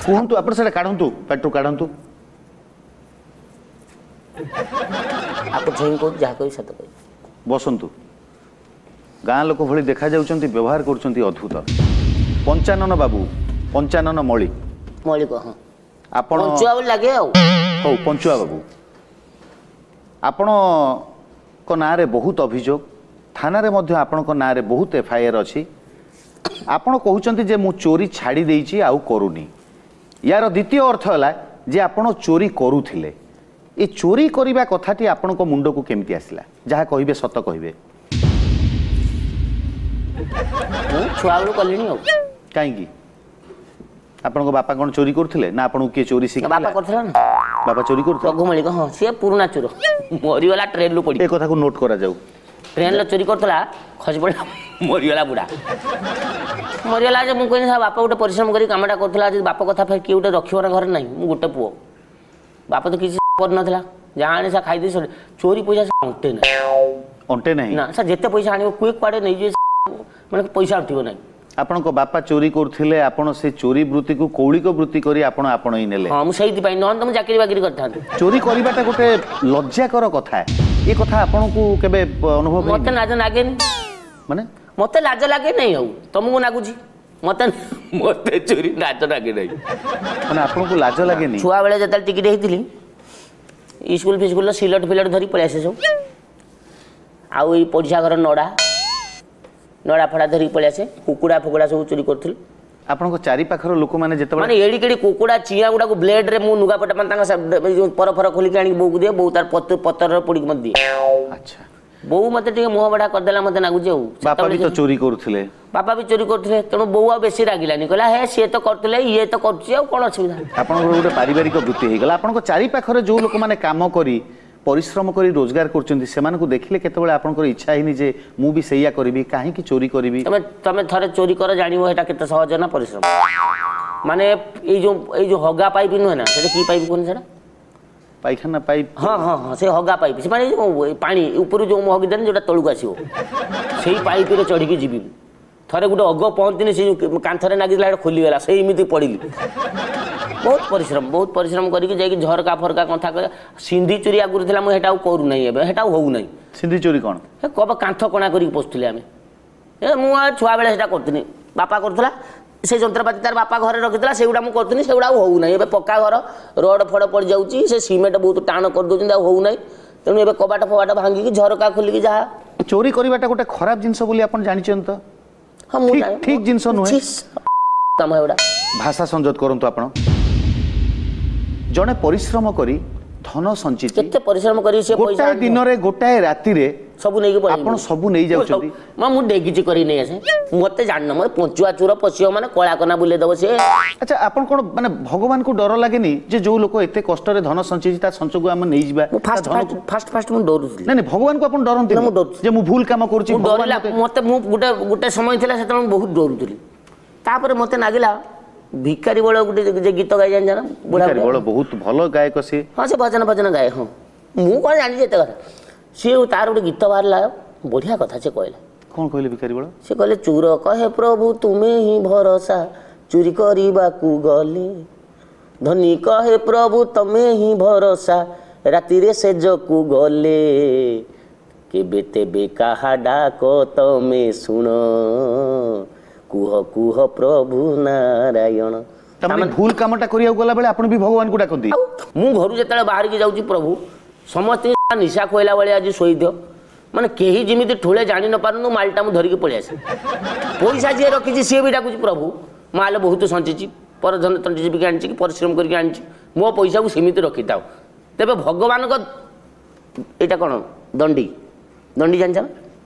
କୁହନ୍ତୁ, ଆପଣ ସେଟା କାଢନ୍ତୁ, ପାଟିରୁ କାଢନ୍ତୁ। ଆପଣ ଛୁଇଁକି କହୁଛି, ଯାହା କହିବି ସତ କହିବି। ବସନ୍ତୁ। ଗାଁ ଲୋକ ଭଳି ଦେଖାଯାଉଛନ୍ତି, ବ୍ୟବହାର କରୁଛନ୍ତି ଅଦ୍ଭୁତ। ପଞ୍ଚାନନ ବାବୁ, ପଞ୍ଚାନନ ମଳିକ। ମଳିକ, ହଁ। ଆପଣ ପଞ୍ଚୁଆ ବୋଲି ଲାଗେ ଆଉ। ହଉ, ପଞ୍ଚୁଆ ବାବୁ, ଆପଣଙ୍କ ନାଁରେ ବହୁତ ଅଭିଯୋଗ, ଥାନାରେ ମଧ୍ୟ ଆପଣଙ୍କ ନାଁରେ ବହୁତ ଏଫଆଇଆର ଅଛି। ଆପଣ କହୁଛନ୍ତି ଯେ ମୁଁ ଚୋରି ଛାଡ଼ି ଦେଇଛି, ଆଉ କରୁନି। ୟାର ଦ୍ୱିତୀୟ ଅର୍ଥ ହେଲା ଯେ ଆପଣ ଚୋରି କରୁଥିଲେ। ଏ ଚୋରି କରିବା କଥାଟି ଆପଣଙ୍କ ମୁଣ୍ଡକୁ କେମିତି ଆସିଲା? ଯାହା କହିବେ ସତ କହିବେ। ମୁଁ ଛୁଆବେଳୁ କଲିଣି ଆଉ। କାହିଁକି? ଆପଣଙ୍କ ବାପା କ'ଣ ଚୋରି କରୁଥିଲେ ନା ଆପଣଙ୍କୁ କିଏ ଚୋରି ଶିଖେଇଲା? ବାପା କରୁଥିଲା ନା। ବାପା ଚୋରି କରୁଥିଲେ? ରଘୁ ମଳିକ, ହଁ, ସିଏ ପୁରୁଣା ଚୋର, ମରିଗଲା ଟ୍ରେନରୁ ପଡ଼ି। ଏ କଥାକୁ ନୋଟ୍ କରାଯାଉ। ଟ୍ରେନରେ ଚୋରି କରୁଥିଲା, ଖସି ପଡ଼ିଲା, ମରିଗଲା, ବୁଢ଼ା ମରିଗଲା। ଯେ ମୁଁ କହିଲି, ବାପା ଗୋଟେ ପରିଶ୍ରମ କରି କାମଟା କରୁଥିଲା, ଯଦି ବାପ କଥା ଫେର କିଏ ଗୋଟେ ରଖିବ ନା ଘରେ ନାହିଁ, ମୁଁ ଗୋଟେ ପୁଅ, ବାପା ତ କିଛି କରିନଥିଲା, ଯାହା ଆଣି ସେ ଖାଇଦେଇ ଚୋରି ପଇସା ଅଣ୍ଟେ ନାହିଁ। ଅଣ୍ଟେ ନାହିଁ ନା ସାର୍, ଯେତେ ପଇସା ଆଣିବ କୁଏ କୁଆଡ଼େ ନେଇଯିବେ, ମାନେ ପଇସା ଉଠିବ ନାହିଁ। ଆପଣଙ୍କ ବାପା ଚୋରି କରୁଥିଲେ, ଆପଣ ସେ ଚୋରି ବୃତ୍ତିକୁ କୌଳିକ ବୃତ୍ତି କରି ଆପଣ ଆପଣେଇ ନେଲେ। ହଁ, ମୁଁ ସେଇଥିପାଇଁ, ନହେଲେ ତ ମୁଁ ଚାକିରି ବାକିରି କରିଥାନ୍ତି। ଚୋରି କରିବାଟା ଗୋଟେ ଲଜ୍ଜାକର କଥା, ଏ କଥା ଆପଣଙ୍କୁ କେବେ ଅନୁଭବ? ମତେ ଲାଜ ଲାଗେନି। ମାନେ ମତେ ଲାଜ ଲାଗେ ନାହିଁ, ଆଉ ତମକୁ ଲାଗୁଛି? ମତେ ମତେ ଚୋରି ଲାଜ ଲାଗେ ନାହିଁ। ମାନେ ଆପଣଙ୍କୁ ଲାଜ ଲାଗେନି? ଛୁଆବେଳେ ଯେତେବେଳେ ଟିକିଟେ ହେଇଥିଲି, ସ୍କୁଲ ଫିସ୍କୁଲର ସିଲଟ ଫିଲଟ ଧରି ପଳେଇ ଆସେ ସବୁ, ଆଉ ଏଇ ପଡ଼ିଶା ଘର ନଡ଼ା ନଡ଼ା ଫଡ଼ା ଧରିକି ପଳେଇ ଆସେ, କୁକୁଡ଼ା ଫୁକୁଡ଼ା ସବୁ ଚୋରି କରୁଥିଲି। ଆପଣଙ୍କ ଚାରି ପାଖର ଲୋକମାନେ ଯେତେବେଳେ ମାନେ ଏଡ଼ିକି କୁକୁଡ଼ା ଚିଆଁ ଗୁଡ଼ାକୁ ବ୍ଲେଡରେ ମୁଁ ଲୁଗାପଟା, ମାନେ ତାଙ୍କ ପର ଫର ଖୋଲିକି ଆଣିକି ବୋଉକୁ ଦିଏ, ବୋଉ ତାର ପତରରେ ପୋଡ଼ିକି ମତେ ଦିଏ। ଆଚ୍ଛା। ବୋଉ ମତେ ଟିକେ ମୁହଁ ବଢ଼ା କରିଦେଲା ମତେ ନାଗୁଛି। ଆଉ ବାପା ବି ତ ଚୋରି କରୁଥିଲେ? ବାପା ବି ଚୋରି କରୁଥିଲେ, ତେଣୁ ବୋଉ ଆଉ ବେଶୀ ରାଗିଲାନି, କହିଲା ହେ ସିଏ ତ କରୁଥିଲେ, ଇଏ ତ କରୁଛି, ଆଉ କ'ଣ ଅସୁବିଧା। ଆପଣଙ୍କର ଗୋଟେ ପାରିବାରିକ ବୃତ୍ତି ହେଇଗଲା। ଆପଣଙ୍କ ଚାରି ପାଖରେ ଯୋଉ ଲୋକମାନେ କାମ କରି ପରିଶ୍ରମ କରି ରୋଜଗାର କରୁଛନ୍ତି, ସେମାନଙ୍କୁ ଦେଖିଲେ କେତେବେଳେ ଆପଣଙ୍କର ଇଚ୍ଛା ହେଇନି ଯେ ମୁଁ ବି ସେଇଆ କରିବି, କାହିଁକି ଚୋରି କରିବି? ତମେ ତମେ ଥରେ ଚୋରି କର, ଜାଣିବ ଏଇଟା କେତେ ସହଜ ନା ପରିଶ୍ରମ। ମାନେ ଏଇ ଯୋଉ ହଗା ପାଇପ୍ ନୁହେଁ ନା, ସେଟା କି ପାଇପ୍ କୁହନ୍ତି ସେଟା? ପାଇଖାନା ପାଇପ୍? ହଁ ହଁ ହଁ, ସେ ହଗା ପାଇପ୍, ସେ ମାନେ ଯୋଉ ପାଣି ଉପରୁ ଯୋଉ ମୁଁ ହଗି ଦେନି, ଯୋଉଟା ତଳକୁ ଆସିବ, ସେଇ ପାଇପ୍ରେ ଚଢ଼ିକି ଯିବି। ଥରେ ଗୋଟେ ଅଗ ପହଞ୍ଚିନି, ସେ ଯୋଉ କାନ୍ଥରେ ନାଗିଥିଲା ସେଟା ଖୋଲିଗଲା, ସେଇ ଏମିତି ପଡ଼ିଲି। ବହୁତ ପରିଶ୍ରମ, ବହୁତ ପରିଶ୍ରମ କରିକି ଯାଇକି ଝରକା ଫରକା କନ୍ଥା କରି। ସିନ୍ଧି ଚୋରି ଆଗରୁ ଥିଲା, ମୁଁ ସେଟା ଆଉ କରୁନାହିଁ ଏବେ, ସେଟା ଆଉ ହଉନାହିଁ। ସିନ୍ଧି ଚୋରି କ'ଣ? କବ କାନ୍ଥ କଣା କରିକି ପଶୁଥିଲେ ଆମେ। ଏ ମୁଁ ଆଉ ଛୁଆବେଳେ ସେଟା କରୁଥିଲି, ବାପା କରୁଥିଲା, ସେ ଯନ୍ତ୍ରପାତି ତାର ବାପା ଘରେ ରଖିଥିଲା, ସେଗୁଡ଼ା ମୁଁ କରୁଥିଲି, ସେଗୁଡ଼ା ଆଉ ହଉନାହିଁ ଏବେ। ପକ୍କା ଘର, ରଡ଼ ଫଡ଼ ପଡ଼ିଯାଉଛି, ସେ ସିମେଣ୍ଟ ବହୁତ ଟାଣ କରିଦେଉଛନ୍ତି, ଆଉ ହଉନାହିଁ। ତେଣୁ ଏବେ କବାଟ ଫବାଟ ଭାଙ୍ଗିକି ଝରକା ଖୋଲିକି ଯାହା। ଚୋରି କରିବାଟା ଗୋଟେ ଖରାପ ଜିନିଷ ବୋଲି ଆପଣ ଜାଣିଛନ୍ତି ତ? ହଁ, ମୁଁ ଠିକ ଜିନିଷ ନୁହେଁ କାମ ଏଗୁଡ଼ା। ଭାଷା ସଂଯତ କରନ୍ତୁ। ଆପଣ ଜଣେ ପରିଶ୍ରମ କରି ଧନ ସଞ୍ଚିତ, କେତେ ପରିଶ୍ରମ କରି ସେ ପଇସା ଗୋଟାଏ ଦିନରେ ଗୋଟାଏ ରାତିରେ ସବୁ ନେଇକି ଆପଣ ସବୁ ନେଇଯାଉଛନ୍ତି। ମୁଁ ଡେଗିଚି କରି ନେଇ ଆସେ। ମତେ ଜାଣିନ, ମତେ ପଞ୍ଚୁଆ ଚୋର ପଶିବ ମାନେ କଳା କନା ବୁଲେଇ ଦବ ସିଏ। ଆଚ୍ଛା, ଆପଣ କ'ଣ ମାନେ ଭଗବାନଙ୍କୁ ଡର ଲାଗେନି ଯେ ଯୋଉ ଲୋକ ଏତେ କଷ୍ଟରେ ଧନ ସଞ୍ଚିଛି, ତା ସଞ୍ଚକୁ ଆମେ ନେଇଯିବା? ଫାଷ୍ଟ ଫାଷ୍ଟ ଫାଷ୍ଟ ମୁଁ ଡରୁଥିଲି। ନାଇଁ ନାଇଁ, ଭଗବାନଙ୍କୁ ଆପଣ ଡରନ୍ତି? ମୁଁ ଡରୁଥିଲି ଯେ ମୁଁ ଭୁଲ କାମ କରୁଛି। ଡରିଲା ମତେ, ମୁଁ ଗୋଟେ ଗୋଟେ ସମୟ ଥିଲା ସେତେବେଳେ ମୁଁ ବହୁତ ଡରୁଥିଲି। ତାପରେ ମତେ ଲାଗିଲା ଭିକାରୀ ବଳ ଗୋଟେ ଯେ ଗୀତ ଗାଇ ଜାଣିଛ ନା? ବୁଢ଼ା ବଳ ବହୁତ ଭଲ ଗାୟକ ସିଏ। ହଁ, ସେ ଭଜନ ଭଜନ ଗାଏ। ହଁ, ମୁଁ କ'ଣ ଜାଣିଛି ଏତେ କଥା। ସିଏ ତାର ଗୋଟେ ଗୀତ ବାହାରିଲା, ବଢ଼ିଆ କଥା ସେ କହିଲା। କ'ଣ କହିଲେ ଭିକାରୀ ବଳ? ସେ କହିଲେ, ଚୋର କହେ ପ୍ରଭୁ ତୁମେ ହିଁ ଭରସା, ଚୋରି କରିବାକୁ ଗଲେ। ଧନୀ କହେ ପ୍ରଭୁ ତମେ ହିଁ ଭରସା, ରାତିରେ ସେଜକୁ ଗଲେ। କେବେ ତେବେ କାହା ଡାକ ତମେ ଶୁଣ, କୁହ କୁହ ପ୍ରଭୁ ନାରାୟଣ। ତାମାନେ ଭୁଲ କାମଟା କରିବାକୁ ଗଲା ବେଳେ ଆପଣ ବି ଭଗବାନଙ୍କୁ ଡାକନ୍ତି? ମୁଁ ଘରୁ ଯେତେବେଳେ ବାହାରିକି ଯାଉଛି, ପ୍ରଭୁ ସମସ୍ତଙ୍କୁ ନିଶା ଖୁଆଇଲା ଭଳିଆ ଆଜି ଶୋଇଦିଅ, ମାନେ କେହି ଯେମିତି ଠୁଳେ ଜାଣି ନ ପାରନ୍ତୁ, ମାଲଟା ମୁଁ ଧରିକି ପଳେଇ ଆସେ। ପଇସା ଯିଏ ରଖିଛି ସିଏ ବି ଡାକୁଛି, ପ୍ରଭୁ ମାଲ ବହୁତ ସଞ୍ଚିଛି, ପରଧନ ତଣ୍ଟି ଚିପିକି ଆଣିଛି କି ପରିଶ୍ରମ କରିକି ଆଣିଛି, ମୋ ପଇସାକୁ ସେମିତି ରଖିଥାଉ। ତେବେ ଭଗବାନଙ୍କ ଏଇଟା କ'ଣ ଦଣ୍ଡି? ଦଣ୍ଡି ଜାଣିଛ ନା?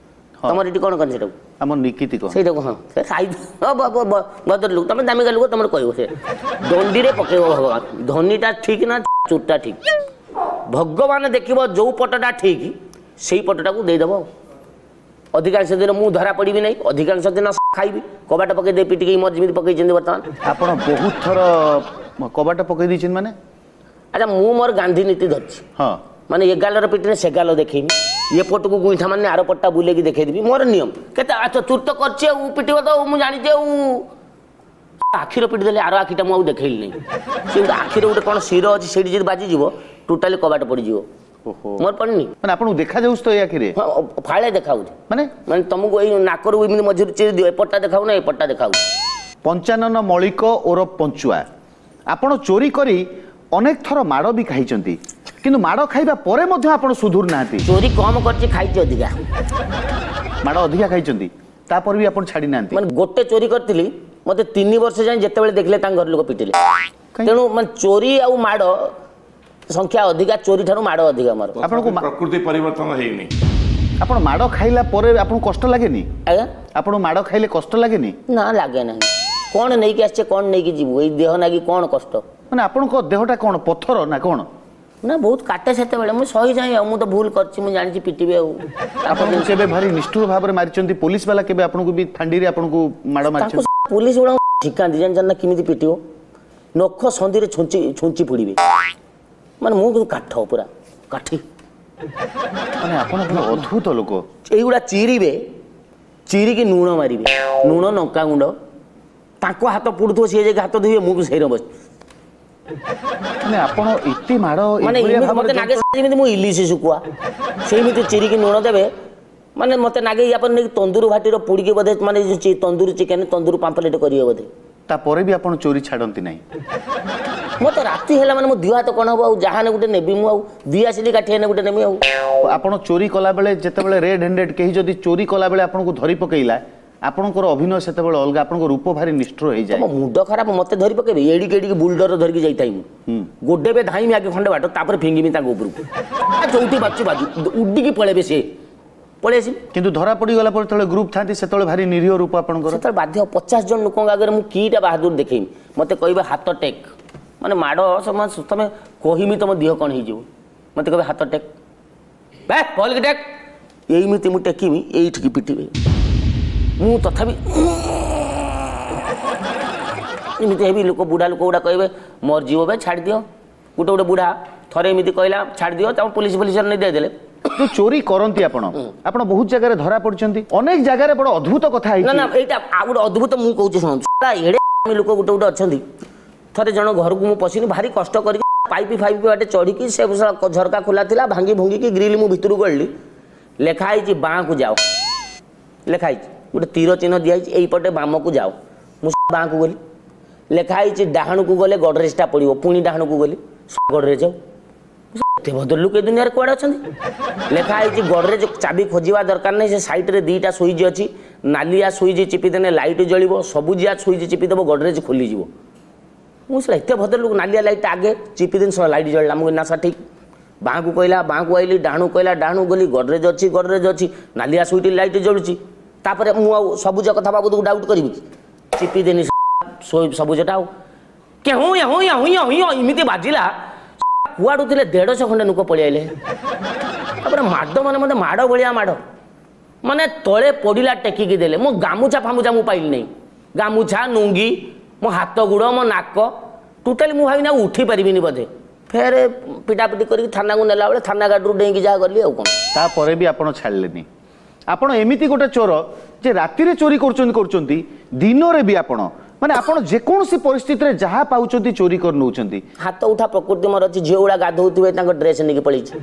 ତମର ଏଠି କ'ଣ କହନ୍ତି ସେଟାକୁ? ଆମ ନିକିତି କହ ସେଇଟାକୁ। ହଁ, ସେ ଖାଇ ଭଦ୍ର ଲୋକ, ତମେ ଦାମିକା ଲୋକ, ତମର କହିବ। ସେ ଦଣ୍ଡିରେ ପକେଇବ ଭଗବାନ, ଧନୀଟା ଠିକ ନା ଚୋରଟା ଠିକ? ଭଗବାନ ଦେଖିବ ଯୋଉ ପଟଟା ଠିକ, ସେଇ ପଟଟାକୁ ଦେଇଦେବ। ଆଉ ଅଧିକାଂଶ ଦିନ ମୁଁ ଧରା ପଡ଼ିବି ନାହିଁ, ଅଧିକାଂଶ ଦିନ ଖାଇବି, କବାଟ ପକେଇ ଦେଇ ପିଟିକି ମୋର ଯେମିତି ପକେଇଛନ୍ତି ବର୍ତ୍ତମାନ। ଆପଣ ବହୁତ ଥର କବାଟ ପକେଇ ଦେଇଛନ୍ତି ମାନେ? ଆଚ୍ଛା, ମୁଁ ମୋର ଗାନ୍ଧୀ ନୀତି ଧରିଛି। ହଁ, ମାନେ ଏ ଗାଲର ପିଟିନେ ସେ ଗାଲ ଦେଖେଇବି, ଏ ପଟକୁ ଗୁଇଠା ମାନେ ଆର ପଟଟା ବୁଲେଇକି ଦେଖେଇଦେବି, ମୋର ନିୟମ। କେତେ ଆଚ୍ଛା, ଚୁର ତ କରିଛି ଆଉ ପିଟିବ ତ, ମୁଁ ଜାଣିଛି। ଆଉ ଆଖିର ପିଟି ଦେଲେ, ଆର ଆଖିଟା ମୁଁ ଆଉ ଦେଖେଇଲି ନାହିଁ। ସେ ଗୋଟେ ଆଖିରେ ଗୋଟେ କ'ଣ ଶିର ଅଛି, ସେଇଠି ଯଦି ବାଜିଯିବ ଟୋଟାଲି କବାଟ ପଡ଼ିଯିବ। ମୋର ପଡ଼ିନି। ମାନେ ଆପଣଙ୍କୁ ଦେଖାଯାଉଛି ତ ଏଇ ଆଖିରେ? ହଁ, ଫାଳେ ଦେଖାଉଛି। ମାନେ ମାନେ ତମକୁ ଏଇ ନାକରୁ ଏମିତି ମଝିରୁ ଚିରି ଦିଅ, ଏପଟଟା ଦେଖାଉ ନା ଏପଟଟା ଦେଖାଉଛି। ପଞ୍ଚାନନ ମଳିକ ଓରଫ ପଞ୍ଚୁଆ, ଆପଣ ଚୋରି କରି ଅନେକ ଥର ମାଡ଼ ବି ଖାଇଛନ୍ତି, କିନ୍ତୁ ମାଡ଼ ଖାଇବା ପରେ ମଧ୍ୟ ଆପଣ ସୁଧୁରୁ ନାହାନ୍ତି। ଚୋରି କମ କରିଛି, ଖାଇଛି ଅଧିକା। ମାଡ଼ ଅଧିକା ଖାଇଛନ୍ତି, ତାପରେ ବି ଆପଣ ଛାଡ଼ି ନାହାନ୍ତି। ମାନେ ଗୋଟେ ଚୋରି କରିଥିଲି, ମୋତେ 3 ବର୍ଷ ଯାଏଁ ଯେତେବେଳେ ଦେଖିଲେ ତାଙ୍କ ଘର ଲୋକ ପିଟିଲେ। ତେଣୁ ମାନେ ଚୋରି ଆଉ ମାଡ଼ ସଂଖ୍ୟା ଅଧିକା, ଚୋରି ଠାରୁ ମାଡ଼ ଅଧିକା ମୋର। ଆପଣଙ୍କୁ ପ୍ରକୃତି ପରିବର୍ତ୍ତନ ହେଇନି। ଆପଣ ମାଡ଼ ଖାଇଲା ପରେ ଆପଣଙ୍କୁ କଷ୍ଟ ଲାଗେନି? ଆଜ୍ଞା, ଆପଣ ମାଡ଼ ଖାଇଲେ କଷ୍ଟ ଲାଗେନି? ନା, ଲାଗେ ନାହିଁ। କ'ଣ ନେଇକି ଆସିଛେ, କ'ଣ ନେଇକି ଯିବୁ, ଏଇ ଦେହ ନାଗି କ'ଣ କଷ୍ଟ। ମାନେ ଆପଣଙ୍କ ଦେହଟା କ'ଣ ପଥର ନା କ'ଣ? ନା, ବହୁତ କାଟେ ସେତେବେଳେ, ମୁଁ ସହିଯାଏ। ଆଉ ମୁଁ ତ ଭୁଲ କରିଛି, ମୁଁ ଜାଣିଛି ପିଟିବେ। ଆଉ ଆପଣଙ୍କୁ କେବେ ଭାରି ନିଷ୍ଠୁର ଭାବରେ ମାରିଛନ୍ତି ପୋଲିସ ବାଲା? କେବେ ଆପଣଙ୍କୁ ବି ଫାଣ୍ଡିରେ ଆପଣଙ୍କୁ ମାଡ଼ ମାରିଛନ୍ତି? ପୋଲିସ ଗୁଡ଼ା ଶିଖାନ୍ତି ଜାଣିଛନ୍ତି ନା କେମିତି ପିଟିବ, ନଖ ସନ୍ଧିରେ ଛୁଞ୍ଚି ଛୁଞ୍ଚି ଫୋଡ଼ିବେ। ମାନେ ମୁଁ କିନ୍ତୁ କାଠ, ପୁରା କାଠି। ମାନେ ଆପଣ ପୁରା ଅଦ୍ଭୁତ ଲୋକ। ଏଇଗୁଡ଼ା ଚିରିବେ, ଚିରିକି ଲୁଣ ମାରିବେ, ଲୁଣ ଲଙ୍କାଗୁଣ୍ଡ। ତାଙ୍କ ହାତ ପୋଡ଼ୁଥିବ, ସିଏ ଯାଇକି ହାତ ଧୋଇବେ, ମୁଁ ବି ସେଇରେ ବସି। ମାନେ ଆପଣ ଏତେ ମାଡ଼? ମାନେ ମତେ ନାଗେ ଯେମିତି ମୁଁ ଇଲିଶି ଶୁଖୁଆ, ସେଇମିତି ଚିରିକି ଲୁଣ ଦେବେ। ମାନେ ମତେ ନାଗେ ୟା ପରେ ନେଇକି ତନ୍ଦୁର ଭାଟିର ପୋଡ଼ିକି ବୋଧେ, ମାନେ ତନ୍ଦୁର ଚିକେନ, ତନ୍ଦୁର ପାମ୍ପଲେଟ କରିବେ ବୋଧେ। ତାପରେ ବି ଆପଣ ଚୋରି ଛାଡ଼ନ୍ତି ନାହିଁ? ମୋତେ ରାତି ହେଲା ମାନେ ମୋ ଦିହ ହାତ କ'ଣ ହବ, ଆଉ ଯାହାନେ ଗୋଟେ ନେବି ମୁଁ, ଆଉ ଦିଆସିଲି କାଠି ହେନେ ଗୋଟେ ନେବି। ଆଉ ଆପଣ ଚୋରି କଲାବେଳେ ଯେତେବେଳେ ରେଡ୍ ହ୍ୟାଣ୍ଡେଡ୍ କେହି ଯଦି ଚୋରି କଲାବେଳେ ଆପଣଙ୍କୁ ଧରି ପକେଇଲା, ଆପଣଙ୍କର ଅଭିନୟ ସେତେବେଳେ ଅଲଗା, ଆପଣଙ୍କ ରୂପ ଭାରି ନିଷ୍ଠୁର ହେଇଯାଏ। ମୁଣ୍ଡ ଖରାପ, ମତେ ଧରି ପକେଇବେ, ଏଡ଼ିକି ଏଡ଼ିକି ବୁଲଡର ଧରିକି ଯାଇଥାଏ ମୁଁ। ଗୋଡେବେ ଧାଇଁବି ଆଗେ ଖଣ୍ଡେ ବାଟ, ତାପରେ ଫିଙ୍ଗିବି ତାଙ୍କ ଉପରକୁ, ଯୋଉଠି ବାଜୁ ବାଜୁ ଉଡ଼ିକି ପଳେଇବେ, ସିଏ ପଳେଇ ଆସିବି। କିନ୍ତୁ ଧରା ପଡ଼ିଗଲା ପରେ ଯେତେବେଳେ ଗ୍ରୁପ୍ ଥାନ୍ତି, ସେତେବେଳେ ଭାରି ନିରୀହ ରୂପ ଆପଣଙ୍କର। ସେତେବେଳେ ବାଧ୍ୟ, 50 ଜଣ ଲୋକଙ୍କ ଆଗରେ ମୁଁ କିଟା ବାହାଦୁର ଦେଖେଇବି? ମତେ କହିବେ ହାତ ଟେକ୍, ମାନେ ମାଡ଼ ତମେ କହିମି ତମ ଦେହ କ'ଣ ହେଇଯିବ। ମତେ କହିବେ ହାତ ଟେକ୍, ଭଲକି ଟେକ୍, ଏଇମିତି ମୁଁ ଟେକିବି, ଏଇଠିକି ପିଟିବେ। ମୁଁ ତଥାପି ଏମିତି ହେବି। ଲୋକ ବୁଢ଼ା ଲୋକ ଗୁଡ଼ା କହିବେ ମରିଯିବ ବେ, ଛାଡ଼ିଦିଅ। ଗୋଟେ ଗୋଟେ ବୁଢ଼ା ଥରେ ଏମିତି କହିଲା ଛାଡ଼ିଦିଅ, ତାକୁ ପୋଲିସ ଫୋଲିସ ନେଇ ଦେଇଦେଲେ। ଯୋଉ ଚୋରି କରନ୍ତି ଆପଣ, ଆପଣ ବହୁତ ଜାଗାରେ ଧରା ପଡ଼ିଛନ୍ତି, ଅନେକ ଜାଗାରେ। ବଡ଼ ଅଦ୍ଭୁତ କଥା ନା ନା, ଏଇଟା ଆଉ ଗୋଟେ ଅଦ୍ଭୁତ ମୁଁ କହୁଛି ଶୁଣନ୍ତୁ। ଏଡ଼େ ଲୋକ ଗୋଟେ ଗୋଟେ ଅଛନ୍ତି। ଥରେ ଜଣ ଘରକୁ ମୁଁ ପଶିନି, ଭାରି କଷ୍ଟ କରିକି ପାଇପ୍ ଫାଇପ୍ ବାଟେ ଚଢ଼ିକି, ସେ ଝରକା ଖୋଲା ଥିଲା, ଭାଙ୍ଗି ଭୁଙ୍ଗିକି ଗ୍ରିଲ୍ ମୁଁ ଭିତରକୁ ଗଳିଲି। ଲେଖା ହେଇଛି ବାଁକୁ ଯାଅ, ଲେଖା ହେଇଛି, ଗୋଟେ ତୀର ଚିହ୍ନ ଦିଆହେଇଛି, ଏଇପଟେ ବାମକୁ ଯାଅ। ମୁଁ ବାଁକୁ ଗଲି, ଲେଖା ହେଇଛି ଡାହାଣକୁ ଗଲେ ଗଡ଼ରେଜଟା ପଡ଼ିବ। ପୁଣି ଡାହାଣକୁ ଗଲି, ଗଡ଼ରେଜ। ଆଉ ଏତେ ଭଦ୍ରଲୋକ ଏ ଦୁନିଆରେ କୁଆଡ଼େ ଅଛନ୍ତି? ଲେଖା ହେଇଛି ଗଡ଼ରେଜ ଚାବି ଖୋଜିବା ଦରକାର ନାହିଁ, ସେ ସାଇଡ଼ରେ 2ଟା ସୁଇଚ୍ ଅଛି, ନାଲିଆ ସୁଇଚ୍ ଚିପିଦେଲେ ଲାଇଟ୍ ଜଳିବ, ସବୁଜିଆ ସୁଇଚ୍ ଚିପିଦେବ ଗଡ଼ରେଜ ଖୋଲିଯିବ। ମୁଁ ସେଟା ଏତେ ଭଦ୍ରଲୋକ, ନାଲିଆ ଲାଇଟ୍ଟା ଆଗେ ଚିପିଦେନି, ଶଳା ଲାଇଟ୍ ଜଳିଲା। ମୁଁ ନା ସାର୍ ଠିକ୍। ବାଁକୁ କହିଲା, ବାଁକୁ ଆଇଲି, ଡାହାଣକୁ କହିଲା, ଡାହାଣକୁ ଗଲି, ଗଡ଼ରେଜ ଅଛି, ଗଡ଼ରେଜ ଅଛି, ନାଲିଆ ସୁଇଚ୍ ଲାଇଟ୍ ଜଳୁଛି। ତାପରେ ମୁଁ ଆଉ ସବୁଜ କଥା ବାବଦକୁ ଡାଉଟ୍ କରିବି କି? ଚିପିଦେନି ସବୁଜଟା, ଆଉ କେହୁଁ ୟାହୁଁ ୟାହୁଁ ୟାହୁଁ ଏମିତି ବାଜିଲା, କୁଆଡ଼ୁ ଥିଲେ 150 ଖଣ୍ଡେ ଲୋକ ପଳେଇଆଇଲେ। ତାପରେ ମାଡ଼, ମାନେ ମୋତେ ମାଡ଼ ଭଳିଆ ମାଡ଼, ମାନେ ତଳେ ପଡ଼ିଲା ଟେକିକି ଦେଲେ। ମୋ ଗାମୁଛା ଫାମୁଛା ମୁଁ ପାଇଲି ନାହିଁ, ଗାମୁଛା ନୁଙ୍ଗି, ମୋ ହାତ ଗୁଡ଼, ମୋ ନାକ ଟୋଟାଲି। ମୁଁ ଭାବିନି ଆଉ ଉଠି ପାରିବିନି ବୋଧେ। ଫେରେ ପିଟାପିଟି କରିକି ଥାନାକୁ ନେଲା ବେଳେ ଥାନା ଗାଡ଼ିରୁ ଡେଇଁକି ଯାହା ଗଲି, ଆଉ କ'ଣ। ତାପରେ ବି ଆପଣ ଛାଡ଼ିଲେନି। ଆପଣ ଏମିତି ଗୋଟେ ଚୋର ଯେ ରାତିରେ ଚୋରି କରୁଛନ୍ତି କରୁଛନ୍ତି, ଦିନରେ ବି ଆପଣ, ମାନେ ଆପଣ ଯେକୌଣସି ପରିସ୍ଥିତିରେ ଯାହା ପାଉଛନ୍ତି ଚୋରି କରି ନେଉଛନ୍ତି। ହାତ ଉଠା ପ୍ରକୃତି ମୋର ଅଛି। ଝିଅ ଗୁଡ଼ା ଗାଧଉଥିବେ, ତାଙ୍କ ଡ୍ରେସ୍ ନେଇକି ପଳେଇଛି।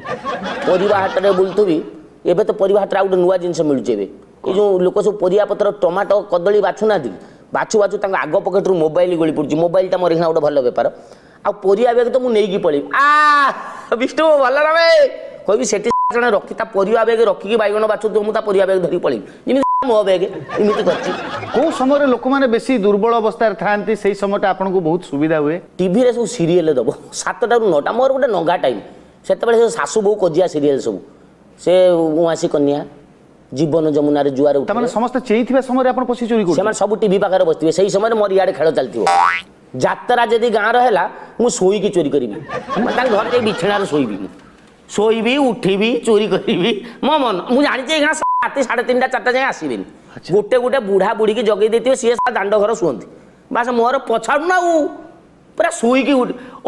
ପରିବା ହାଟରେ ବୁଲୁଥିବି, ଏବେ ତ ପରିବା ହାଟରେ ଆଉ ଗୋଟେ ନୂଆ ଜିନିଷ ମିଳୁଛି। ଏବେ ଏଇ ଯେଉଁ ଲୋକ ସବୁ ପରିବା ପତ୍ର ଟମାଟୋ କଦଳୀ ବାଛୁନାହାନ୍ତି, ବାଛୁ ବାଛୁ ତାଙ୍କ ଆଗ ପକେଟରୁ ମୋବାଇଲ ଗଳି ପଡ଼ୁଛି। ମୋବାଇଲଟା ମୋର ଏଇଖିଣା ଗୋଟେ ଭଲ ବେପାର। ଆଉ ପରିବା ବ୍ୟାଗ ତ ମୁଁ ନେଇକି ପଳେଇବି, ଆ ବିଷ୍ଣୁ ଭଲ ରବେ କହିବି, ସେଠି ଜଣେ ରଖି ତା ପରିବା ବ୍ୟାଗ ରଖିକି ବାଇଗଣ ବାଛୁଥିବ, ମୁଁ ତା ପରିବା ବ୍ୟାଗ ଧରିକି ପଳେଇବି, ଯେମିତି ମୋ ବ୍ୟାଗ। ଏମିତି କରିଛି। କୋଉ ସମୟରେ ଲୋକମାନେ ବେଶୀ ଦୁର୍ବଳ ଅବସ୍ଥାରେ ଥାଆନ୍ତି, ସେଇ ସମୟଟା ଆପଣଙ୍କୁ ବହୁତ ସୁବିଧା ହୁଏ? ଟିଭିରେ ସବୁ ସିରିଏଲ ଦେବ 7ଟାରୁ 9ଟା, ମୋର ଗୋଟେ ନଙ୍ଗା ଟାଇମ୍ ସେତେବେଳେ। ସେ ଶାଶୁ ବୋହୂ କଜିଆ ସିରିଏଲ ସବୁ, ସେ ଉଆଁସି କନ୍ୟା, ଜୀବନ ଯମୁନାରେ ଜୁଆର। ତାମାନେ ସମସ୍ତେ ଚେଇଥିବା ସମୟରେ ଆପଣ ପଶି ଚୋରି କରୁଛନ୍ତି? ସେମାନେ ସବୁ ଟିଭି ପାଖରେ ବସିଥିବେ, ସେଇ ସମୟରେ ମୋର ଇଆଡ଼େ ଖେଳ ଚାଲିଥିବ। ଯାତ୍ରା ଯଦି ଗାଁର ହେଲା, ମୁଁ ଶୋଇକି ଚୋରି କରିବି, ତାଙ୍କ ଘରେ ଯାଇ ବିଛଣାରେ ଶୋଇବି, ମୁଁ ଶୋଇବି, ଉଠିବି, ଚୋରି କରିବି ମୋ ମନ। ମୁଁ ଜାଣିଛି ଏଇଖିଣା ରାତି 3:30 4ଟା ଯାଏଁ ଆସିବେନି। ଗୋଟେ ଗୋଟେ ବୁଢ଼ା ବୁଢ଼ୀକି ଜଗେଇ ଦେଇଥିବେ, ସିଏ ଦାଣ୍ଡ ଘର ଶୁଅନ୍ତି, ବାସ୍ ମୋର ପଛାଡୁ ନା। ଆଉ ପୁରା ଶୋଇକି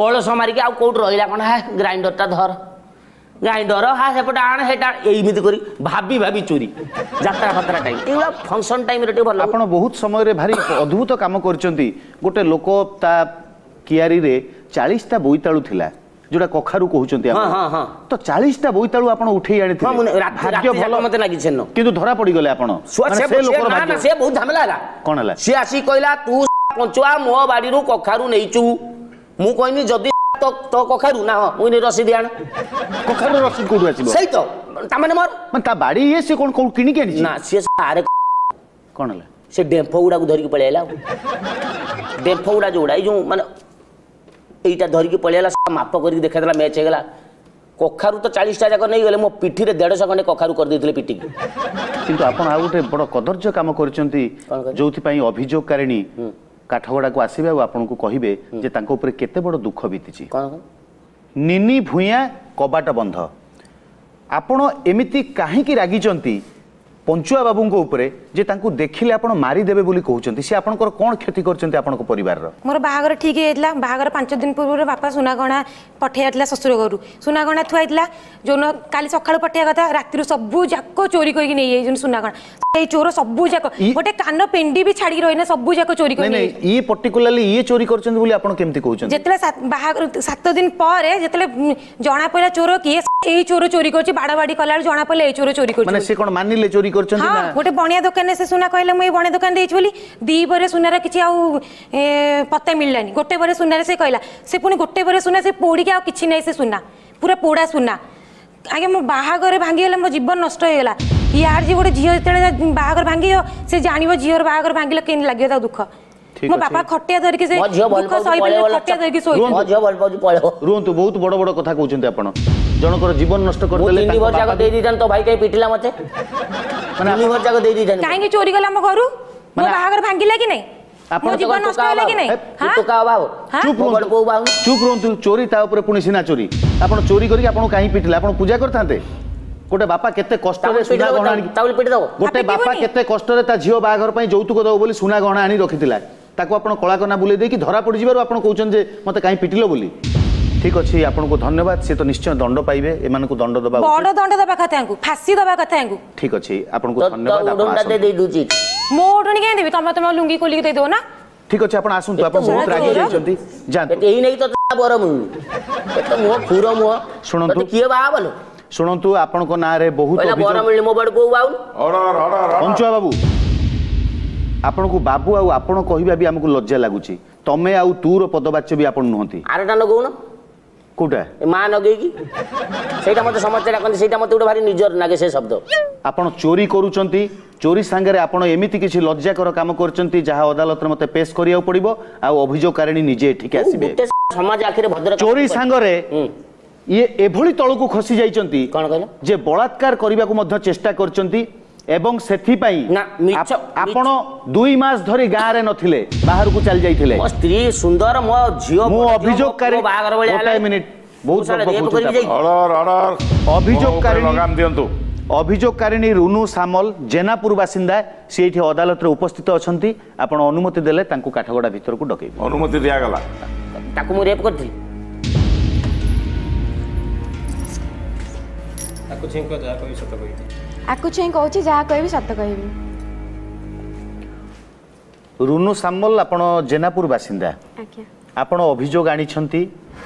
ଅଳସ ମାରିକି, ଆଉ କୋଉଠି ରହିଲା କ'ଣ, ହେ ଗ୍ରାଇଣ୍ଡରଟା ଧର, ଗ୍ରାଇଣ୍ଡର ହା ସେପଟେ ଆଣ ସେଟା ଏମିତି କରି ଭାବି ଭାବି ଚୋରି। ଯାତ୍ରା ଫାତ୍ରା ଟାଇମ୍, ଏଇଗୁଡ଼ା ଫଙ୍କସନ୍ ଟାଇମ୍ରେ ଟିକେ ଭଲ। ଆପଣ ବହୁତ ସମୟରେ ଭାରି ଅଦ୍ଭୁତ କାମ କରିଛନ୍ତି। ଗୋଟେ ଲୋକ ତା କିଆରିରେ 40ଟା ବୋଇତାଳୁ ଥିଲା, ଯୋଉଟା କଖାରୁ କହୁଛନ୍ତି, ତ 40ଟା ବୋଇତାଳୁ ଆପଣ ଉଠେଇ ଆଣିଥିଲେ। ଭାଗ୍ୟ ଭଲ ମତେ ଲାଗିଛି, କିନ୍ତୁ ଧରା ପଡିଗଲେ ଆପଣ। ସେ ବହୁତ ଝାମେଲା ହେଲା। କଣ ହେଲା? ସିଏ ଆସିକି କହିଲା, ତୁ ପଞ୍ଚୁଆ ମୋ ବାଡ଼ିରୁ କଖାରୁ ନେଇଛୁ। ମୁଁ କହିନି, ଯଦି ତୋ କଖାରୁ ନା? ହଁ। ମୁଁ ରସିଦ ଆଣ। କଖାରୁ ରସିଦ କୋଉଠୁ ଆସିବ? ସେଇ ତ, ତାମାନେ ମୋର ମାନେ ତା ବାଡି ଇଏ, ସେ କଣ କୋଉଠୁ କିଣିକି ଆଣିଛି ନା ସିଏ? ଆରେ କଣ ହେଲା? ସେ ଡେମ୍ଫ ଗୁଡାକୁ ଧରିକି ପଳେଇ ଆଇଲା। ଡେମ୍ଫ ଗୁଡା ଯୋଉଗୁଡା, ଏଇ ଯୋଉ ମାନେ ଏଇଟା ଧରିକି ପଳେଇଲା, ମାପ କରିକି ଦେଖାଇଦେଲା, ମ୍ୟାଚ୍ ହେଇଗଲା। କଖାରୁ ତ 40ଟା ଯାକ ନେଇଗଲେ, ମୋ ପିଠିରେ 150 ଖଣ୍ଡେ କଖାରୁ କରିଦେଇଥିଲେ ପିଠିକି। କିନ୍ତୁ ଆପଣ ଆଉ ଗୋଟେ ବଡ଼ କଦର୍ଯ୍ୟ କାମ କରିଛନ୍ତି, ଯୋଉଥିପାଇଁ ଅଭିଯୋଗକାରିଣୀ କାଠଗଡ଼ାକୁ ଆସିବେ ଆଉ ଆପଣଙ୍କୁ କହିବେ ଯେ ତାଙ୍କ ଉପରେ କେତେ ବଡ଼ ଦୁଃଖ ବିତିଛି। ନିନି ଭୂୟାଁ, କବାଟ ବନ୍ଧ। ଆପଣ ଏମିତି କାହିଁକି ରାଗିଛନ୍ତି ପଞ୍ଚୁଆ ବାବୁଙ୍କ ଉପରେ ଯେ ତାଙ୍କୁ ଦେଖିଲେ ଆପଣ ମାରିଦେବେ ବୋଲି କହୁଛନ୍ତି? ସେ ଆପଣଙ୍କର କ'ଣ କ୍ଷତି କରିଛନ୍ତି ଆପଣଙ୍କ ପରିବାରର? ମୋର ବାହାଘର ଠିକ୍ ହେଇଯାଇଥିଲା। ବାହାଘର 5 ଦିନ ପୂର୍ବରୁ ବାପା ସୁନା ଗହଣା ପଠେଇ ଯାଇଥିଲା ଶ୍ୱଶୁର ଘରୁ। ସୁନା ଗହଣା ଥୁଆ ହେଇଥିଲା। ଯୋଉଦିନ କାଲି ସକାଳୁ ପଠେଇବା କଥା, ରାତିରୁ ସବୁ ଯାକ ଚୋରି କରିକି ନେଇଯାଇଛନ୍ତି ସୁନା ଗହଣା। ଏଇ ଚୋର ସବୁ ଯାକ, ଗୋଟେ କାନ ପେଣ୍ଡି ବି ଛାଡ଼ିକି ରହିନା, ସବୁ ଯାକ ଚୋରି କରି। ଇଏ ପର୍ଟିକୁଲାରଲି ଇଏ ଚୋରି କରିଛନ୍ତି ବୋଲି ଆପଣ କେମିତି କହୁଛନ୍ତି? ଯେତେବେଳେ ବାହାଘର 7 ଦିନ ପରେ ଯେତେବେଳେ ଜଣା ପଡ଼ିଲା ଚୋର କିଏ, ଏଇ ଚୋର ଚୋରି କରୁଛି, ବାଡା ବାଡି କଲା ବେଳକୁ ଜଣା ପଡ଼ିଲା ଏଇ ଚୋର ଚୋରି କରୁଛି। ମାନେ ସେ କ'ଣ ମାନିଲେ ଚୋରି କରିଛନ୍ତି? ହଁ, ଗୋଟେ ବଣିଆ ଦୋକାନରେ ସେ ସୁନା କହିଲେ, ମୁଁ ଏଇ ବଣିଆ ଦୋକାନ ଦେଇଛି ବୋଲି। ଦି ପରେ ସୁନାର କିଛି ଆଉ ପତ୍ତା ମିଳିଲାନି। ଗୋଟେ ପରେ ସୁନାରେ ସେ କହିଲା, ସେ ପୁଣି ଗୋଟେ ପରେ ସୁନା ସେ ପୋଡ଼ିକି ଆଉ କିଛି ନାହିଁ, ସେ ସୁନା ପୁରା ପୋଡ଼ା ସୁନା। ଆଜ୍ଞା, ମୋ ବାହାଘର ଭାଙ୍ଗିଗଲା, ମୋ ଜୀବନ ନଷ୍ଟ ହେଇଗଲା। ୟାର ଯେ ଗୋଟେ ଝିଅ ଯେତେବେଳେ ବାହାଘର ଭାଙ୍ଗିବ, ସେ ଜାଣିବ ଝିଅର ବାହାଘର ଭାଙ୍ଗିଲେ କେମିତି ଲାଗିବ ତା ଦୁଃଖ। ମୋ ବାପା ଖଟିଆ ଧରିକି ସେ ଦୁଃଖ ସହିପାରିଲେ, ଖଟିଆ ଧରିକି ଶୋଇ। ରୁହନ୍ତୁ, ବହୁତ ବଡ ବଡ କଥା କହୁଛନ୍ତି ଆପଣ। ଜଣଙ୍କର ଜୀବନ ନଷ୍ଟ କରିଦେଲେ। ତିନି ଭର ଯାକ ଦେଇ ଦେଇଥାନ୍ତି। ତୋ ଭାଇ କାହିଁ ପିଟିଲା ମତେ? ତିନି ଭର ଯାକ ଦେଇ ଦେଇଥାନ୍ତି। କାହିଁକି ଚୋରି କଲା ଆମ ଘରୁ? ମୋ ବାହାଘର ଭାଙ୍ଗିଲା କି ନାଇଁ? ମୋ ଜୀବନ ନଷ୍ଟ ହେଲା କି ନାଇଁ? ଟୋକା ଅଭାବ। ଚୁପ୍ ଚୁପ୍ ରୁହନ୍ତୁ। ଚୋରି, ତା ଉପରେ ପୁଣି ସିନା ଚୋରି। ଆପଣ ଚୋରି କରିକି ଆପଣଙ୍କୁ କାହିଁ ପିଟିଲା? ଆପଣ ପୂଜା କରିଥାନ୍ତେ। ଗୋଟେ ବାପା କେତେ କଷ୍ଟରେ ସୁନା ଗହଣା, ଗୋଟେ ବାପା କେତେ କଷ୍ଟରେ ତା ଝିଅ ବାହାଘର ପାଇଁ ଯୌତୁକ ଦେବ ବୋଲି ସୁନା ଗହଣା ଆଣି ରଖିଥିଲା, ତାକୁ ଆପଣ କଳାକନା ବୁଲେଇ ଦେଇକି ଧରା ପଡ଼ିଯିବାରୁ ଆପଣ କହୁଛନ୍ତି ଯେ ମତେ କାହିଁ ପିଟିଲ ବୋଲି। ଠିକ ଅଛି, ଆପଣଙ୍କୁ ଧନ୍ୟବାଦ। ସେ ତ ନିଶ୍ଚୟ ଦଣ୍ଡ ପାଇବେ, ଏମାନଙ୍କୁ ଦଣ୍ଡ ଦେବା, ବଡ ଦଣ୍ଡ ଦେବା କଥା ୟାଙ୍କୁ, ଫାଶୀ ଦେବା କଥା ୟାଙ୍କୁ। ଠିକ ଅଛି, ଆପଣଙ୍କୁ ଧନ୍ୟବାଦ। ମୋ ଓଢଣୀ କାହିଁ ଦେବି? ତମେ ତମ ଲୁଙ୍ଗି ଖୋଲିକି ଦେଇଦେବ ନା? ଠିକ ଅଛି, ଆପଣ ଆସନ୍ତୁ। ଆପଣ ବହୁତ ରାଗି ଯାଇଛନ୍ତି, ଯାଆନ୍ତୁ। ଏଇ ନେଇକି ତ ବର ମିଳୁନି, ଏତେ ମୁହଁ ଖୁର ମୁହଁ। ଶୁଣନ୍ତୁ, କିଏ ବାହା ବଲ? ଶୁଣନ୍ତୁ, ଆପଣଙ୍କ ନାଁରେ ବହୁତ ବର ମିଳିନି, ମୋ ବଡ଼ କୋଉ ବାଉନି। ପଞ୍ଚୁଆ ବାବୁ, ଆପଣଙ୍କୁ ବାବୁ ଆଉ ଆପଣ କହିବା ବି ଆମକୁ ଲଜ୍ଜା ଲାଗୁଛି। ତମେ ଆଉ ତୁର ପଦବାଚ୍ୟ ବି ଆପଣ ନୁହନ୍ତି। ଆରଟା ଲଗଉନ। କୋଉଟା? ମା ଲଗେଇକି ସେଇଟା ମତେ ସମସ୍ତେ ଡାକନ୍ତି, ସେଇଟା ମତେ ଗୋଟେ ଭାରି ନିଜର ଲାଗେ ସେ ଶବ୍ଦ। ଆପଣ ଚୋରି କରୁଛନ୍ତି, ଚୋରି ସାଙ୍ଗରେ ଆପଣ ଏମିତି କିଛି ଲଜ୍ଜାକର କାମ କରିଛନ୍ତି ଯାହା ଅଦାଲତରେ ମତେ ପେଶ କରିବାକୁ ପଡିବ, ଆଉ ଅଭିଯୋଗକାରିଣୀ ନିଜେ ଏଠିକି ଆସିବେ। ସମାଜ ଆଖିରେ ଭଦ୍ର ଚୋରି ସାଙ୍ଗରେ ଇଏ ଏଭଳି ତଳକୁ ଖସି ଯାଇଛନ୍ତି କଣ କହିଲ ଯେ ବଳାତ୍କାର କରିବାକୁ ମଧ୍ୟ ଚେଷ୍ଟା କରିଛନ୍ତି, ଏବଂ ସେଥିପାଇଁ ଆପଣ 2 ମାସ ଧରି ଗାଁରେ ନଥିଲେ, ବାହାରକୁ ଚାଲି ଯାଇଥିଲେ। ମୋ ସ୍ତ୍ରୀ ସୁନ୍ଦର, ମୋ ଝିଅ। ମୁଁ ଅଭିଯୋଗକାରୀ, ଗୋଟାଏ ମିନିଟ୍, ବହୁତ ଅଭିଯୋଗକାରିଣୀ ଦିଅନ୍ତୁ। ଅଭିଯୋଗକାରିଣୀ ରୁନୁ ସାମଲ, ଜେନାପୁର ବାସିନ୍ଦା, ସେ ଏଇଠି ଅଦାଲତରେ ଉପସ୍ଥିତ ଅଛନ୍ତି। ଆପଣ ଅନୁମତି ଦେଲେ ତାଙ୍କୁ କାଠଗଡ଼ା ଭିତରକୁ ଡକେଇବେ। ଅନୁମତି ଦିଆଗଲା। ତାକୁ ମୁଁ ରେପ୍ କରିଥିଲି। ଆକୁ ଛିଙ୍କ, ଯାହା କହିବି ସତ କହିବି। ଆକୁ ଛୁଇଁ କହୁଛି, ଯାହା କହିବି ସତ କହିବି। ରୁନୁ ସାମଲ, ଆପଣ ଜେନାପୁର ବାସିନ୍ଦା? ଆଜ୍ଞା। ଆପଣ ଅଭିଯୋଗ ଆଣିଛନ୍ତି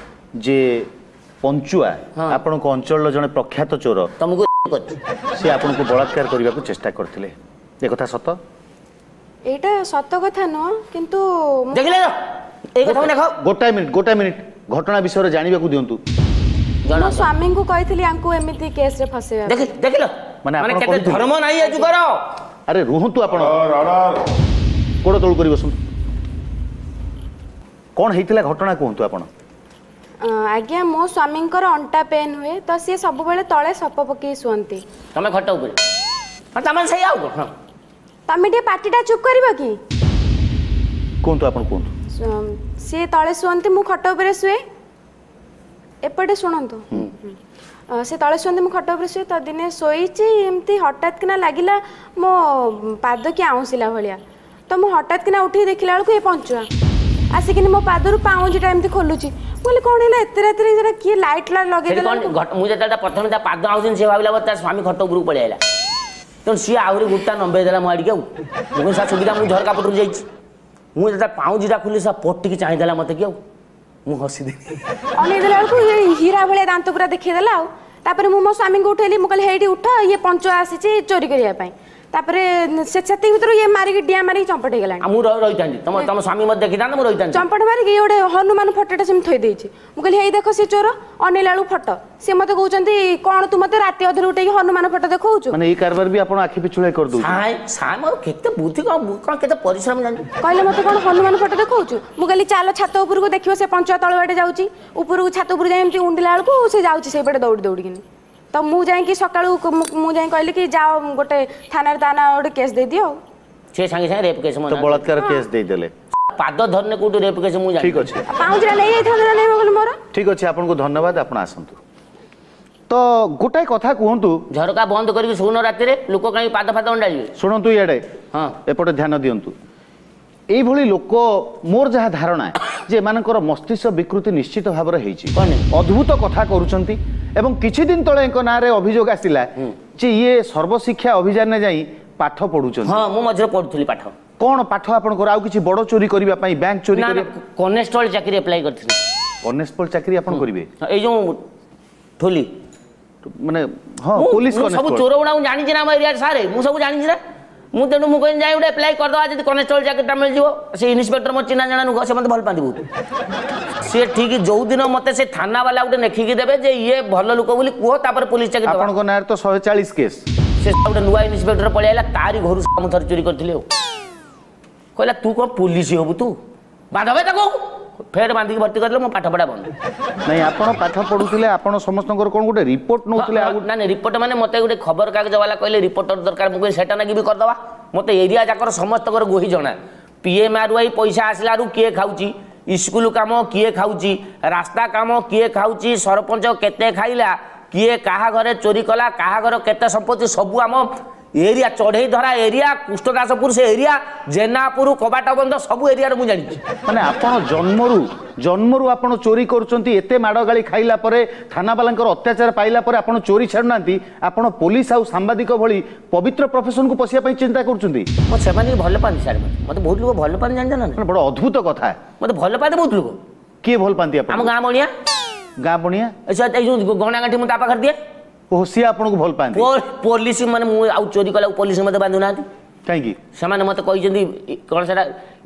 ଯେ ପଞ୍ଚୁଆ, ଆପଣଙ୍କ ଅଞ୍ଚଳର ଜଣେ ପ୍ରଖ୍ୟାତ ଚୋର, ତମକୁ ସେ ଆପଣଙ୍କୁ ବଳାତ୍କାର କରିବାକୁ ଚେଷ୍ଟା କରିଥିଲେ, ଏ କଥା ସତ? ଏଇଟା ସତ କଥା ନୁହଁ, କିନ୍ତୁ ଦେଖିଲେ ଏଇ କଥା ଦେଖ। ଗୋଟାଏ ମିନିଟ୍, ଗୋଟାଏ ମିନିଟ୍, ଘଟଣା ବିଷୟରେ ଜାଣିବାକୁ ଦିଅନ୍ତୁ। ମୋ ସ୍ୱାମୀଙ୍କୁ କହିଥିଲି ୟାଙ୍କୁ ଏମିତି କେସରେ ଫସେଇବା। ଦେଖିଲ, ମାନେ କେତେ ଧର୍ମ ନାହିଁ ଏ ଯୁଗର। ଆରେ ରୁହନ୍ତୁ, ଆପଣ ଗୋଡ଼ ତଳୁ କରି ବସନ୍ତୁ। କ'ଣ ହେଇଥିଲା ଘଟଣା କୁହନ୍ତୁ ଆପଣ। ଆଜ୍ଞା, ମୋ ସ୍ୱାମୀଙ୍କର ଅଣ୍ଟା ପେନ୍ ହୁଏ, ତ ସିଏ ସବୁବେଳେ ତଳେ ସପ ପକେଇ ଶୁଅନ୍ତି। ତମେ ଖଟ ଉପରେ, ତମେ ସେଇ ଆଉ ହଁ। ତମେ ଟିକେ ପାଟିଟା ଚୁପ୍ କରିବ କି? କୁହନ୍ତୁ, ଆପଣ କୁହନ୍ତୁ। ସିଏ ତଳେ ଶୁଅନ୍ତି, ମୁଁ ଖଟ ଉପରେ ଶୁଏ। ଏପଟେ ଶୁଣନ୍ତୁ, ସେ ତଳେ ଶୁଅନ୍ତି, ମୁଁ ଖଟ ଉପରେ ଶୁଏ। ତ ଦିନେ ଶୋଇଛି ଏମିତି, ହଠାତ୍ କିନା ଲାଗିଲା ମୋ ପାଦ କିଏ ଆଉଁସିଲା ଭଳିଆ। ତ ମୁଁ ହଠାତ୍ କିନା ଉଠିକି ଦେଖିଲା ବେଳକୁ ଏ ପଞ୍ଚୁଆ। ଆସିକିନି ମୋ ପାଦରୁ ପାଉଁଜିଟା ଏମିତି ଖୋଲୁଛି। ମୁଁ କହିଲି କ'ଣ ହେଲା ଏତେ ରାତିରେ, ସେଟା କିଏ ଲାଇଟ୍ ଲଗେଇଦେଲା? ମୁଁ ଯେତେବେଳେ ପ୍ରଥମେ ତା ପାଦ ଆଉଛନ୍ତି, ସେ ଭାବିଲା ତା ସ୍ୱାମୀ ଖଟ ଉପରକୁ ପଳେଇ ଆଇଲା, ତେଣୁ ସିଏ ଆହୁରି ଗୋଟା ନମ୍ବେଇ ଦେଲା ମୋ ଆଡ଼ିକି। ଆଉ ମୁଁ କହିଲି ସାର୍ ସୁବିଧା, ମୁଁ ଝରକା ପଟରୁ ଯାଇଛି। ମୁଁ ଯେତେବେଳେ ପାଉଁଜିଟା ଖୋଲି ସା ପଟିକି ଚାହିଁଦେଲା ମତେ କି, ଆଉ ମୁଁ ହସିଦେଲି। ଅନେଇଦେଲା ବେଳକୁ ଇଏ ହୀରା ଭଳିଆ ଦାନ୍ତ ପୁରା ଦେଖେଇଦେଲା। ଆଉ ତାପରେ ମୁଁ ମୋ ସ୍ୱାମୀଙ୍କୁ ଉଠେଇଲି, ମୁଁ କହିଲି ହେଇଠି ଉଠ, ଇଏ ପଞ୍ଚୁଆ ଆସିଛି ଚୋରି କରିବା ପାଇଁ। ତାପରେ ସେ ସେତିକି ଭିତରୁ ଇଏ ମାରିକି ଡିଆଁ ମାରିକି ଚମ୍ପଟ ହେଇଗଲାଣି। ମୁଁ ରହିଥାନ୍ତି, ତମ ତମ ସ୍ୱାମୀ ମତେ ଦେଖିଥାନ୍ତେ, ମୁଁ ରହିଥାନ୍ତି। ଚମ୍ପଟ ମାରିକି ଇଏ ଗୋଟେ ହନୁମାନ ଫଟୋଟା ସେମିତି ଥୋଇ ଦେଇଛି। ମୁଁ କହିଲି ହେଇ ଦେଖ ସେ ଚୋର। ଅନେଇଲା ବେଳକୁ ଫଟୋ। ସେ ମତେ କହୁଛନ୍ତି କ'ଣ ତୁ ମତେ ରାତି ଅଧରେ ଉଠେଇକି ହନୁମାନ ଫଟୋ ଦେଖାଉଛୁ? ମାନେ ଏଇ କାରବାର ବି ଆପଣ ଆଖି ପିଛୁଳାଇ କରିଦଉଛନ୍ତି? ସାଇ ସାଇ, ମୋର କେତେ ବୁଦ୍ଧି, କ'ଣ କ'ଣ କେତେ ପରିଶ୍ରମ ଜାଣିଛୁ। କହିଲେ ମତେ କ'ଣ ହନୁମାନ ଫଟୋ ଦେଖାଉଛୁ? ମୁଁ କହିଲି ଚାଲ ଛାତ ଉପରକୁ ଦେଖିବ ସେ ପଞ୍ଚୁଆ ତଳ ବାଟେ ଯାଉଛି। ଉପରକୁ ଛାତ ଉପରକୁ ଯାଇ ଏମିତି ଉଣ୍ଡିଲା ବେଳକୁ ସେ ଯାଉଛି ସେଇପଟେ ଦୌଡ଼ି ଦୌଡ଼ିକିନି। ତ ମୁଁ ଯାଇକି ସକାଳୁ ମୁଁ ଯାଇ କହିଲି କି ଯାଅ ଗୋଟେ ଥାନାରେ ତା ନାଁ ଗୋଟେ କେସ୍ ଦେଇଦିଅ। ଆଉ ସେ ସାଙ୍ଗେ ସାଙ୍ଗେ ରେପ୍ କେସ୍, ତ ବଳାତ୍କାର କେସ୍ ଦେଇଦେଲେ। ପାଦ ଧରିନେ କୋଉଠି ରେପ୍ କେସ୍ ମୁଁ ଜାଣି। ଠିକ ଅଛି, ପାଉଁଜିଟା ନେଇଯାଇଥାନ୍ତେ ନା ନେଇ ମୋର। ଠିକ ଅଛି, ଆପଣଙ୍କୁ ଧନ୍ୟବାଦ, ଆପଣ ଆସନ୍ତୁ। ତ ଗୋଟାଏ କଥା କୁହନ୍ତୁ, ଝରକା ବନ୍ଦ କରିକି ଶୋଉନ ରାତିରେ, ଲୋକ କାହିଁକି ପାଦ ଫାଦ ଅଣ୍ଡାଳିବେ? ଶୁଣନ୍ତୁ ଇଆଡ଼େ, ହଁ ଏପଟେ ଧ୍ୟାନ ଦିଅନ୍ତୁ। ଏଇଭଳି ଲୋକ, ମୋର ଯାହା ଧାରଣା ଯେ ଏମାନଙ୍କର ମସ୍ତିଷ୍କ ବିକୃତି ନିଶ୍ଚିତ ଭାବରେ ହେଇଛି, ଅଦ୍ଭୁତ କଥା କରୁଛନ୍ତି। ଏବଂ କିଛି ଦିନ ତଳେ ଏଙ୍କ ନାଁରେ ଅଭିଯୋଗ ଆସିଲା ଯେ ଇଏ ସର୍ବଶିକ୍ଷା ଅଭିଯାନରେ ଯାଇ ପାଠ ପଢୁଛନ୍ତି। ହଁ, ମୁଁ ମଝିରେ ପଢୁଥିଲି ପାଠ। କ'ଣ ପାଠ ଆପଣଙ୍କର? ଆଉ କିଛି ବଡ଼ ଚୋରି କରିବା ପାଇଁ, ବ୍ୟାଙ୍କ ଚୋରି? କନେଷ୍ଟବଳ ଚାକିରି ଆପ୍ଲାଏ କରିଥିଲି। କନେଷ୍ଟବଳ ଚାକିରି ଆପଣ କରିବେ? ଏଇ ଯୋଉ ଠୋଲି ମାନେ? ହଁ, ପୋଲିସ। ସବୁ ଚୋର ଗୁଡା ମୁଁ ଜାଣିଛି ନା ଆମ ଏରିଆରେ ସାର୍, ମୁଁ ସବୁ ଜାଣିଛି ନା ମୁଁ। ତେଣୁ ମୁଁ କହିଲି ଯାଇ ଗୋଟେ ଆପ୍ଲାଏ କରିଦେବା, ଯଦି କନେଷ୍ଟବଳ ଚାକିରିଟା ମିଳିଯିବ। ସେ ଇନ୍ସପେକ୍ଟର ମୋ ଚିହ୍ନା ଜଣା ନୁହଁ, ସେ ମୋତେ ଭଲ ପାଆନ୍ତି ବହୁତ। ସିଏ ଠିକ ଯୋଉଦିନ ମୋତେ ସେ ଥାନା ବାଲା ଗୋଟେ ଲେଖିକି ଦେବେ ଯେ ଇଏ ଭଲ ଲୋକ ବୋଲି କୁହ, ତାପରେ ପୋଲିସ ଚାକିରି। ଆପଣଙ୍କ ନାଁରେ ତ 140 କେସ୍। ସେ ଗୋଟେ ନୂଆ ଇନ୍ସପେକ୍ଟର ପଳେଇ ଆଇଲା, ତାରି ଘରୁ ମୁଁ ଥରେ ଚୋରି କରିଥିଲି। ଆଉ କହିଲା ତୁ କ'ଣ ପୋଲିସ ହବୁ, ତୁ ବାନ୍ଧବେ ତାକୁ, ଫେର ବାନ୍ଧିକି ଭର୍ତ୍ତି କରିଦେଲେ, ମୋ ପାଠ ପଢ଼ା ବନ୍ଦ। ନାଇଁ, ଆପଣ ପାଠ ପଢୁଥିଲେ, ଆପଣ ସମସ୍ତଙ୍କର କ'ଣ ଗୋଟେ ରିପୋର୍ଟ ନେଉଥିଲେ? ଆଉ ନା ନାଇଁ, ରିପୋର୍ଟ ମାନେ ମୋତେ ଗୋଟେ ଖବରକାଗଜ ବାଲା କହିଲେ ରିପୋର୍ଟର ଦରକାର। ମୁଁ କହିଲି ସେଟା ନାଗି ବି କରିଦେବା। ମୋତେ ଏରିଆ ଯାକର ସମସ୍ତଙ୍କର ଗୋହି ଜଣା। ପିଏମ୍ଆର୍ ୱାଇ ପଇସା ଆସିଲାରୁ କିଏ ଖାଉଛି, ସ୍କୁଲ କାମ କିଏ ଖାଉଛି, ରାସ୍ତା କାମ କିଏ ଖାଉଛି, ସରପଞ୍ଚ କେତେ ଖାଇଲା, କିଏ କାହା ଘରେ ଚୋରି କଲା, କାହା ଘର କେତେ ସମ୍ପତ୍ତି, ସବୁ ଆମ ଏରିଆ ଚଢ଼େଇ ଧରା ଏରିଆ, କୃଷ୍ଣଦାସପୁର ସେ ଏରିଆ, ଜେନାପୁର, କବାଟବନ୍ଧ, ସବୁ ଏରିଆରେ ମୁଁ ଜାଣିଛି। ମାନେ ଆପଣ ଜନ୍ମରୁ ଆପଣ ଚୋରି କରୁଛନ୍ତି। ଏତେ ମାଡ଼ ଗାଳି ଖାଇଲା ପରେ, ଥାନାବାଲାଙ୍କର ଅତ୍ୟାଚାର ପାଇଲା ପରେ ଆପଣ ଚୋରି ଛାଡ଼ୁନାହାନ୍ତି। ଆପଣ ପୋଲିସ ଆଉ ସାମ୍ବାଦିକ ଭଳି ପବିତ୍ର ପ୍ରଫେସନକୁ ପଶିବା ପାଇଁ ଚିନ୍ତା କରୁଛନ୍ତି? ମୋ ସେମାନେ ଭଲ ପାଆନ୍ତି ସାର୍, ମୋତେ ବହୁତ ଲୋକ ଭଲ ପାଆନ୍ତି, ଜାଣିଛ ନା? ବଡ଼ ଅଦ୍ଭୁତ କଥା। ମୋତେ ଭଲ ପାଆନ୍ତି ବହୁତ ଲୋକ। କିଏ ଭଲ ପାଆନ୍ତି? ଆପଣ ଆମ ଗାଁ ବଣିଆ। ଗାଁ ବଣିଆ? ଏଇ ଯୋଉ ଗଣା ଗାଣ୍ଠି ମୁଁ ତା ପାଖରେ ଦିଏ। ଓହୋ, ସିଏ ଆପଣଙ୍କୁ ଭଲ ପାଆନ୍ତି। ପୋଲିସ ମାନେ ମୁଁ ଆଉ ଚୋରି କଲାକୁ ପୋଲିସ ମୋତେ ବାନ୍ଧୁନାହାନ୍ତି। କାହିଁକି? ସେମାନେ ମୋତେ କହିଛନ୍ତି କ'ଣ ସେଟା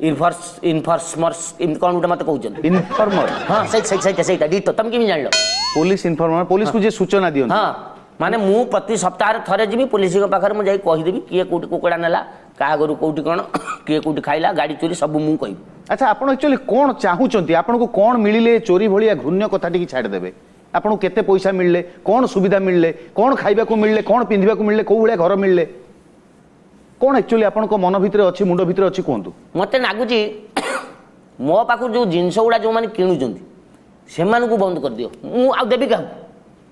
ଇନଫର୍ସ ଇନଫର୍ମର୍ସ ଏମିତି କ'ଣ ଗୋଟେ ମୋତେ କହୁଛନ୍ତି। ଇନଫର୍ମର? ହଁ, ସେଇଟା ସେଇଟା ଡିଟୋ। ତମେ କେମିତି ଜାଣିଲ? ପୋଲିସ ଇନଫର୍ମର, ପୋଲିସକୁ ଯିଏ ସୂଚନା ଦିଅନ୍ତି। ହଁ, ମାନେ ମୁଁ ପ୍ରତି ସପ୍ତାହରେ ଥରେ ଯିବି ପୋଲିସଙ୍କ ପାଖରେ, ମୁଁ ଯାଇ କହିଦେବି କିଏ କୋଉଠି କୁକୁଡ଼ା ନେଲା, କାହା ଘରୁ କୋଉଠି କ'ଣ, କିଏ କୋଉଠି ଖାଇଲା, ଗାଡ଼ି ଚୋରି, ସବୁ ମୁଁ କହିବି। ଆଚ୍ଛା, ଆପଣ ଆକ୍ଚୁଆଲି କ'ଣ ଚାହୁଁଛନ୍ତି? ଆପଣଙ୍କୁ କ'ଣ ମିଳିଲେ ଚୋରି ଭଳିଆ ଘୃଣ୍ୟ କଥା ଟିକେ ଛାଡ଼ିଦେବେ? ଆପଣଙ୍କୁ କେତେ ପଇସା ମିଳିଲେ, କ'ଣ ସୁବିଧା ମିଳିଲେ, କ'ଣ ଖାଇବାକୁ ମିଳିଲେ, କ'ଣ ପିନ୍ଧିବାକୁ ମିଳିଲେ, କେଉଁ ଭଳିଆ ଘର ମିଳିଲେ, କ'ଣ ଆକ୍ଚୁଆଲି ଆପଣଙ୍କ ମନ ଭିତରେ ଅଛି, ମୁଣ୍ଡ ଭିତରେ ଅଛି କୁହନ୍ତୁ। ମୋତେ ଲାଗୁଛି ମୋ ପାଖରୁ ଯେଉଁ ଜିନିଷ ଗୁଡ଼ା ଯେଉଁମାନେ କିଣୁଛନ୍ତି ସେମାନଙ୍କୁ ବନ୍ଦ କରିଦିଅ। ମୁଁ ଆଉ ଦେବି କାହାକୁ?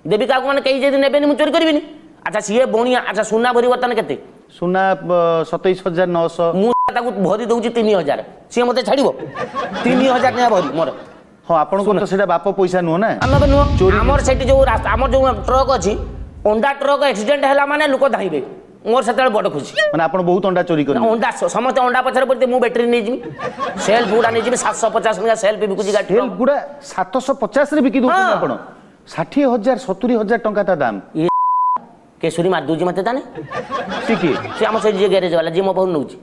ଦେବି କାହାକୁ ମାନେ କେହି ଯଦି ନେବେନି ମୁଁ ଚୋରି କରିବିନି। ଆଚ୍ଛା, ସିଏ ବଣିଆ। ଆଚ୍ଛା, ସୁନା ଭରି ବର୍ତ୍ତମାନ କେତେ? ସୁନା 27,900। ମୁଁ ତାକୁ ଭରି ଦଉଛି 3,000, ସିଏ ମୋତେ ଛାଡ଼ିବ? 3,000 ଟଙ୍କା ଭରି ମୋର। ହଁ, ଆପଣଙ୍କର ତ ସେଇଟା ବାପ ପଇସା ନୁହଁ ନା? ଆମର ନୁହଁ। ଆମର ସେଠି ଯୋଉ ରାସ୍ତା, ଆମର ଯୋଉ ଟ୍ରକ୍ ଅଛି, ଅଣ୍ଡା ଟ୍ରକ୍ ଆକ୍ସିଡେଣ୍ଟ ହେଲା ମାନେ ଲୋକ ଧାଇଁବେ। ମୋର ସେତେବେଳେ ବଡ଼ ଖୁସି। ମାନେ ଆପଣ ବହୁତ ଅଣ୍ଡା ଚୋରି କରନ୍ତି? ଅଣ୍ଡା ସମସ୍ତେ ଅଣ୍ଡା ପଛରେ ପଡ଼ିଥିବେ, ମୁଁ ବ୍ୟାଟେରୀ ନେଇଯିବି, ସେଲ୍ଫ ଗୁଡ଼ା ନେଇଯିବି। 750 ଟଙ୍କା ସେଲ୍ଫ ବିକୁଛି ଗାଡ଼ି। ସେଲ୍ଫ ଗୁଡ଼ା 750ରେ ବିକି ଦଉଛନ୍ତି ଆପଣ? 60,000 70,000 ଟଙ୍କା ତା ଦାମ। କେଶରୀ ମାରି ଦଉଛି ମତେ ତାନେ। ସେ କିଏ? ସେ ଆମ ସେ ଯିଏ ଗ୍ୟାରେଜ ବାଲା, ଯିଏ ମୋ ପାଖରୁ ନେଉଛି।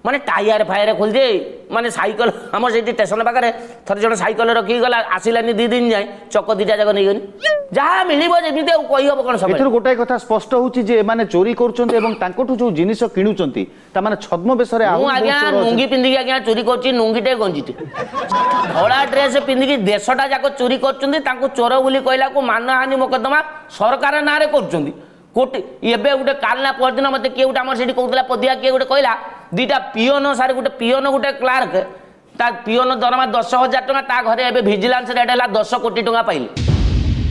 ମାନେ ଟାୟାର ଫାୟାର ଖୋଲିଦିଏ, ମାନେ ସାଇକେଲ। ଆମର ସେଇଠି ଷ୍ଟେସନ ପାଖରେ ଥରେ ଜଣେ ସାଇକେଲ ରଖିକି ଗଲା, ଆସିଲାନି 2 ଦିନ ଯାଏଁ, ଚକ 2ଟା ଯାକ ନେଇଗନି। ଯାହା ମିଳିବ ଯେମିତି, ଆଉ କହିହବ କ'ଣ ସବୁ। ଏଥିରୁ ଗୋଟାଏ କଥା ସ୍ପଷ୍ଟ ହଉଛି ଯେ ଏମାନେ ଚୋରି କରୁଛନ୍ତି ଏବଂ ତାଙ୍କଠୁ ଯୋଉ ଜିନିଷ କିଣୁଛନ୍ତି, ତାମାନେ ଛଦ୍ମବେଶରେ। ମୁଁ ଆଜ୍ଞା ଲୁଙ୍ଗି ପିନ୍ଧିକି ଆଜ୍ଞା ଚୋରି କରୁଛି, ଲୁଙ୍ଗିଟେ ଗଞ୍ଜିଟେ ଧଳା ଡ୍ରେସ ପିନ୍ଧିକି ଦେଶଟା ଯାକ ଚୋରି କରୁଛନ୍ତି। ତାଙ୍କୁ ଚୋର ବୋଲି କହିଲାକୁ ମାନହାନି ମୋକଦ୍ଦମା ସରକାର ନାଁରେ କରୁଛନ୍ତି କୋଟି। ଏବେ ଗୋଟେ କାଲି ନା ପରଦିନ ମୋତେ କିଏ ଗୋଟେ ଆମର ସେଠି କହୁଥିଲା, ପଦିଆ କିଏ ଗୋଟେ କହିଲା, 2ଟା ପିଅନ ସାର୍, ଗୋଟେ ପିଅନ ଗୋଟେ କ୍ଲାର୍କ, ତା ପିଅନ ଦରମା 10,000 ଟଙ୍କା, ତା ଘରେ ଏବେ ଭିଜିଲାନ୍ସ ରେଟ୍ ହେଲା 10 କୋଟି ଟଙ୍କା ପାଇଲେ।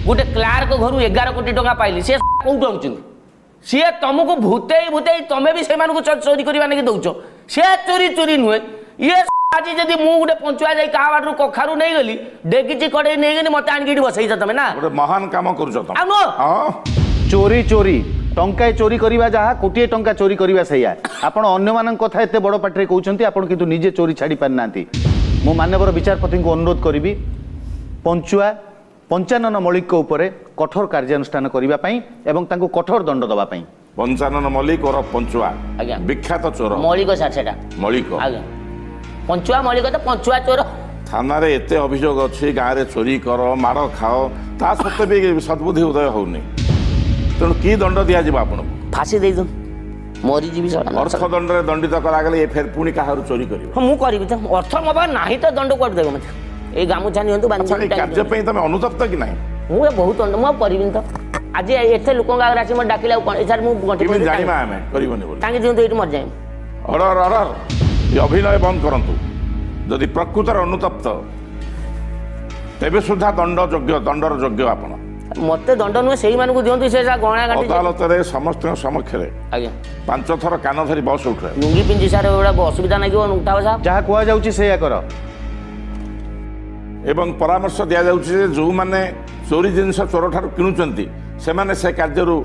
ଗୋଟେ କ୍ଲାର୍କ ଘରୁ 11 କୋଟି ଟଙ୍କା ପାଇଲି। ସେ କୋଉଠୁ ଆଣୁଛନ୍ତି? ସିଏ ତମକୁ ଭୂତେଇ ଭୂତେଇ ତମେ ବି ସେମାନଙ୍କୁ ଚୋରି କରିବା ନାଗି ଦଉଛ। ସେ ଚୋରି ଚୋରି ନୁହେଁ ଇଏ। ଆଜି ଯଦି ମୁଁ ଗୋଟେ ପଞ୍ଚୁଆ ଯାଇ କାହା ବାଟରୁ କଖାରୁ ନେଇଗଲି, ଡେକିଚି କଡ଼େଇ ନେଇଗଲି, ମତେ ଆଣିକି ଏଠି ବସେଇଛ ତମେ ନା? ଗୋଟେ ମହାନ କାମ କରୁଛ ତମେ। ଆଉ ନୁହଁ? ହଁ, ଚୋରି ଚୋରି, ଟଙ୍କାଏ ଚୋରି କରିବା ଯାହା, କୋଟିଏ ଟଙ୍କା ଚୋରି କରିବା ସେଇଆ। ଆପଣ ଅନ୍ୟମାନଙ୍କ କଥା ଏତେ ବଡ଼ ପାଟିରେ କହୁଛନ୍ତି, ଆପଣ କିନ୍ତୁ ନିଜେ ଚୋରି ଛାଡ଼ି ପାରିନାହାନ୍ତି। ମୁଁ ମାନ୍ୟବର ବିଚାରପତିଙ୍କୁ ଅନୁରୋଧ କରିବି ପଞ୍ଚୁଆ ପଞ୍ଚାନନ ମଲ୍ଲିକଙ୍କ ଉପରେ କଠୋର କାର୍ଯ୍ୟାନୁଷ୍ଠାନ କରିବା ପାଇଁ ଏବଂ ତାଙ୍କୁ କଠୋର ଦଣ୍ଡ ଦେବା ପାଇଁ। ପଞ୍ଚାନନ ମଲ୍ଲିକ ଓରଫ ପଞ୍ଚୁଆ। ଆଜ୍ଞା। ବିଖ୍ୟାତ ଚୋର। ମଳିକ ସାର୍, ସେଟା ମଳିକ। ଆଜ୍ଞା, ପଞ୍ଚୁଆ ମଳିକ ତ ପଞ୍ଚୁଆ ଚୋର। ଥାନାରେ ଏତେ ଅଭିଯୋଗ ଅଛି, ଗାଁରେ ଚୋରି କର, ମାଡ଼ ଖାଅ, ତା ସତ୍ତ୍ୱେ ବି ସଦ୍ବୁଦ୍ଧି ଉଦୟ ହଉନି। ତେଣୁ କି ଦଣ୍ଡ ଦିଆଯିବ ଆପଣଙ୍କୁ? ଫାଶୀ ଦେଇଦିଅନ୍ତୁ, ମରିଯିବି ଶଳା। ଅର୍ଥ ଦଣ୍ଡରେ ଦଣ୍ଡିତ କରାଗଲେ ଏ ଫେର ପୁଣି କାହାରୁ ଚୋରି କରିବ। ହଁ, ମୁଁ କରିବି ତ। ଅର୍ଥ ମୋ ପାଖରେ ନାହିଁ ତ ଦଣ୍ଡ କୁଆଡୁ ଦେବ ମତେ? ଏଇ ଗାମୁଛା ନିଅନ୍ତୁ, ବାନ୍ଧି ଆଚ୍ଛା, ଏଇ କାର୍ଯ୍ୟ ପାଇଁ ତମେ ଅନୁତପ୍ତ କି ନାହିଁ? ମୁଁ ଏ ବହୁତ ଦଣ୍ଡ, ମୁଁ ଆଉ କରିବିନି ତ। ଆଜି ଏତେ ଲୋକଙ୍କ ଆଗରେ ଆସି ମୋତେ ଡାକିଲେ ଆଉ କ'ଣ ସାର୍? ମୁଁ ଗଣ୍ଠି କେମିତି ପକେଇ ଜାଣିବା ଆମେ କରିବନି ବୋଲି? ଟାଙ୍ଗି ଦିଅନ୍ତୁ, ଏଇଠି ମରିଯାଏ। ଅର୍ଡର, ଅର୍ଡର, ଏ ଅଭିନୟ ବନ୍ଦ କରନ୍ତୁ। ଯଦି ପ୍ରକୃତରେ ଅନୁତପ୍ତ ତେବେ ସୁଦ୍ଧା ଦଣ୍ଡ ଯୋଗ୍ୟ, ଦଣ୍ଡର ଯୋଗ୍ୟ ଆପଣ। ମତେ ଦଣ୍ଡ ନୁହେଁ, ସେଇମାନଙ୍କୁ ଦିଅନ୍ତୁ, ସେ ଯାହା ଗଣା ଗାଣ୍ଠି। ଅଦାଲତରେ ସମସ୍ତଙ୍କ ସମକ୍ଷରେ ଆଜ୍ଞା 5 ଥର କାନ ଧରି ବସ ଉଠେ। ଲୁଙ୍ଗି ପିନ୍ଧି ସାର୍, ଏଗୁଡ଼ା ଅସୁବିଧା ଲାଗିବ ଉଠା ବସା। ଯାହା କୁହାଯାଉଛି ସେଇଆ କର। ଏବଂ ପରାମର୍ଶ ଦିଆଯାଉଛି ଯେ ଯେଉଁମାନେ ଚୋରି ଜିନିଷ ଚୋରଠାରୁ କିଣୁଛନ୍ତି ସେମାନେ ସେ କାର୍ଯ୍ୟରୁ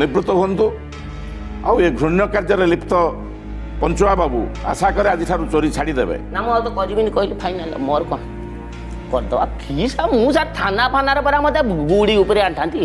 ନିବୃତ୍ତ ହୁଅନ୍ତୁ। ଆଉ ଏ ଘୃଣ୍ୟ କାର୍ଯ୍ୟରେ ଲିପ୍ତ ପଞ୍ଚୁଆ ବାବୁ ଆଶା କରେ ଆଜିଠାରୁ ଚୋରି ଛାଡ଼ିଦେବେ। ନା, ମୁଁ ଆଉ ତ କରିବିନି କହିଲି, ଫାଇନାଲ। ମୋର କ'ଣ କରିଦେବା କି ସାର୍? ମୁଁ ସାର୍ ଥାନା ଫାନାରେ ପରା ମତେ ଗୁଡ଼ି ଉପରେ ଆଣିଥାନ୍ତି।